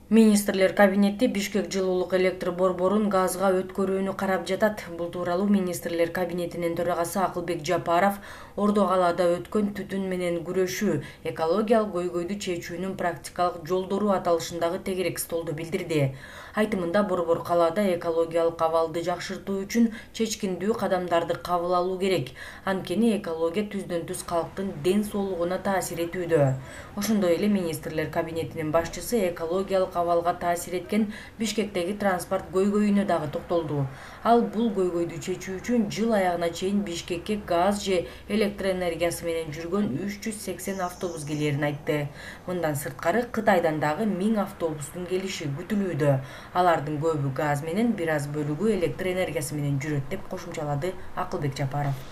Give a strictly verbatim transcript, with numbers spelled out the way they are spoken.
Министрлер кабинети Бишкек жылуулук электр борборун газга өткөрүүнү карап жатат. Бул тууралуу Министрлер кабинетинин төрагасы Акылбек Жапаров Ордо калаада өткөн түтүн менен күрөшүү, экологиялык көйгөйдү чечүүнүн практикалык жолдору аталышындагы тегерек столдо билдирди. Айтымында борбор калаада экологиялык абалды жакшыртуу үчүн чечкиндүү кадамдарды кабыл алуу керек. Анткени экология түздөн-түз калктын ден соолугуна таасир этүүдө. Ошондой эле Министрлер кабинетинин башчысы экологиялык абалга таасир эткен Бишкектеги транспорт көйгөйүнө дагы токтолду. Ал бул көйгөйдү чечүү үчүн жыл аягына чейин Бишкекке газ же электр энергиясы менен жүргөн үч жүз сексен автобус келерин айтты. Мындан сырткары Кытайдан дагы миң автобустун келиши күтүлүүдө. Алардын көбү газ менен, бир аз бөлүгү электр энергиясы менен жүрөт деп кошумчалады Акылбек Жапаров.